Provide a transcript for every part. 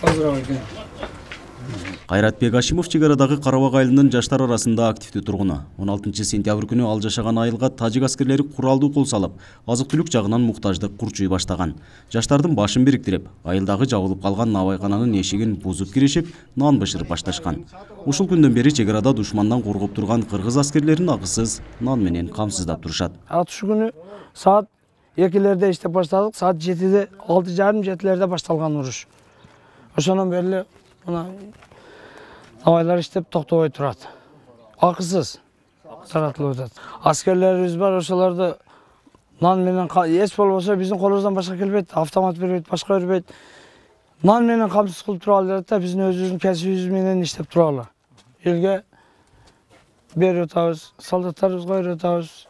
азыраак экен. Кайратбек Ашимов чек арадагы Карабак айылынын жаштар арасында активдүү тургуну. 16 сентябрь күнү ал жашаган айылга тажик аскерлери куралдуу кол салып, азык-түлүк жагынан муктаждык курчуй баштаган. Жаштардын башын бириктирип, айылдагы жабылып калган набайкананын эшигин бузуп киришип, нан бышырып башташкан. Ушул күндөн бери чек арада душмандан коргоп турган кыргыз аскерлерин акысыз нан менен камсыздап турушат. Атыш күнү саат 2-лерде иштеп баштадык, саат 7-де, 6:30-7-лерде башталган уруш. Ошондон бери мына Навайлар иштеп токтобой турат. Акысыз таратылып атат. Аскерлерибиз бар, ошолорду нан менен эч болбосо биздин колубуздан башка келбейт, автомат бербейт, башка бербейт. Нан менен камсыз кылып туралы дедик да, биздин өзүбүздүн кесибибиз менен иштеп туралы. Элге берип атабыз, солдаттарыбызга берип атабыз.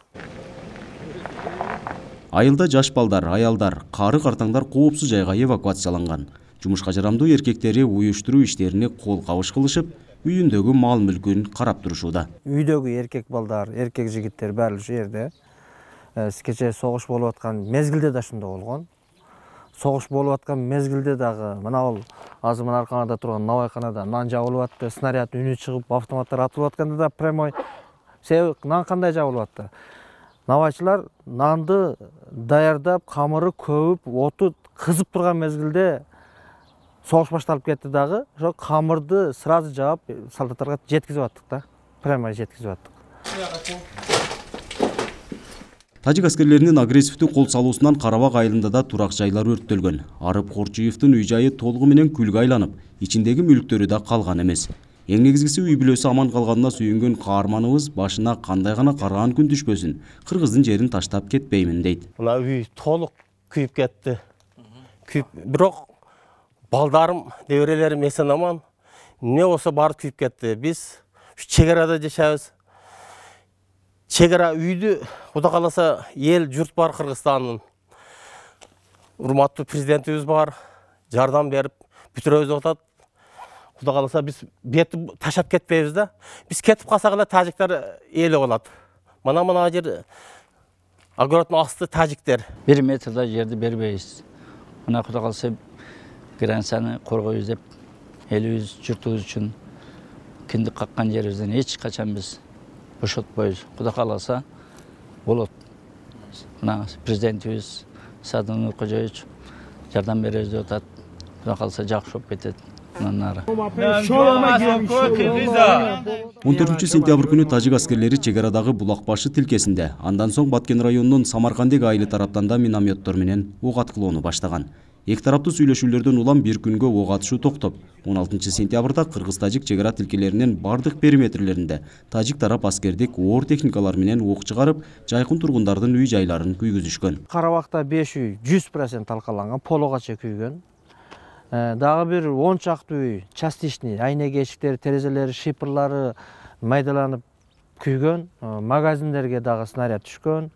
Айылда жаш балдар, аялдар, кары картаңдар коопсуз жайга эвакуацияланган. Жумушка жарамдуу эркектери уюштуруу иштерине кол кабыш кылышып, үйүндөгү мал мүлкүн карап турушууда. Үйдөгү эркек балдар, эркек жигиттер баары ушул жерде. Кечээ согуш болуп аткан мезгилде да ошондой болгон. Согуш болуп аткан мезгилде дагы мына бул азыр мына арканада турган набайканада нан жабылып атты, снаряд үнү чыгып, автоматтар атылып атканда да прямой себеп нан кандай жабылып атты. Набайчылар нанды даярдап, камыры көбүп, оту кызып турган мезгилде согуш башталып кетти дагы, ошо камырды сразу жаап солдаттарга жеткизип аттык да. Прямо жеткизип аттык. Тажик аскерлеринин агрессивдүү кол салуусунан Карабак айылында да турак жайлар өрттөлгөн. Арып Корчуевдун үй жайы толугу менен күлгө айланып, ичиндеги мүлктөрү да калган эмес. Эң негизгиси үй бүлөсү аман калганына сүйүнгөн каарманыбыз башына кандай гана караан күн түшпөсүн, кыргыздын жерин таштап кетпеймин дейт. Мына үй толук күйүп кетти. Бирок балдарым, неберелерим эсен аман. Не болсо баары күйүп кетти. Биз чек арада жашайбыз. Чек ара үйдү Кудай кааласа эл журт бар Кыргызстандын. Урматтуу президентибиз бар. Жардам берип бүтүрөбүз деп атат. Кудай кааласа биз бетти таштап кетпейбиз да. Биз кетип калсак эле тажиктер эле калат. Мына жер огороддун асты тажиктер. 1 метрда жерди бербейбиз. Мына Кудай кааласа границаны коргойбуз деп элибиз журтубуз үчүн киндик каккан жерибизден эч качан биз бошотпойбуз. Кудай кааласа болот. Мына президентибиз Садыр Нуркожоевич жардам беребиз деп атат. Кудай кааласа жакшы болуп кетет. 14 сентябрь күнү тажик аскерлери чек арадагы Булакбашы тилкесинде, андан соң Баткен районунун Самаркандек айылы тараптан да минометтор менен ок аткылоону баштаган. Эки тараптуу сүйлөшүүлөрдөн улам бир күнгө ок атышуу токтоп, 16 сентябрда кыргыз-тажик чек ара тилкелеринин бардык периметрлеринде тажик тарап аскердик оор техникалар менен ок чыгарып, жайкын тургундардын үй жайларын күйгүзүшкөн. Карабакта 5 үй 100% талкаланган, пологача күйгөн. Дагы бир 10 чактуу үй частичный, айнеге эшиктери, терезелери, шипырлары майдаланып күйгөн. Магазиндерге дагы снаряд түшкөн.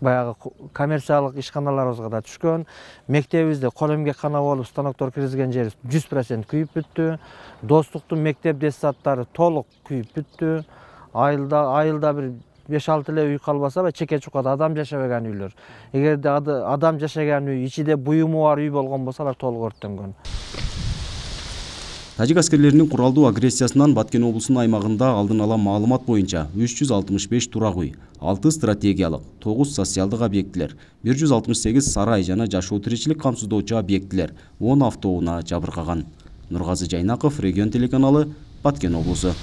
Баягы коммерциялык ишканаларыбызга да түшкөн. Мектебибизде кол эмгеккана болуп станоктор киргизген жер 100% күйүп бүттү. Достуктун мектеп детсадтары толук күйүп бүттү. Айылда бир 5-6 эле үй калбаса, чеке чукада адам жашабаган үйлөр. Эгерде адам жашаган үй, ичиде буюму бар үй болгон болсо, алар толук өрттөнгөн. Тажик аскерлеринин куралдуу агрессиясынан Баткен облусунун аймагында алдын ала маалымат боюнча 365 турак үй, 6 стратегиялык, 9 социалдык объектилер, 168 сарай жана жашоо тиричилик камсыздоочу объектилер, 10 автоунаа жабыркаган. Нургазы Жайнаков, Регион телеканалы, Баткен облусу.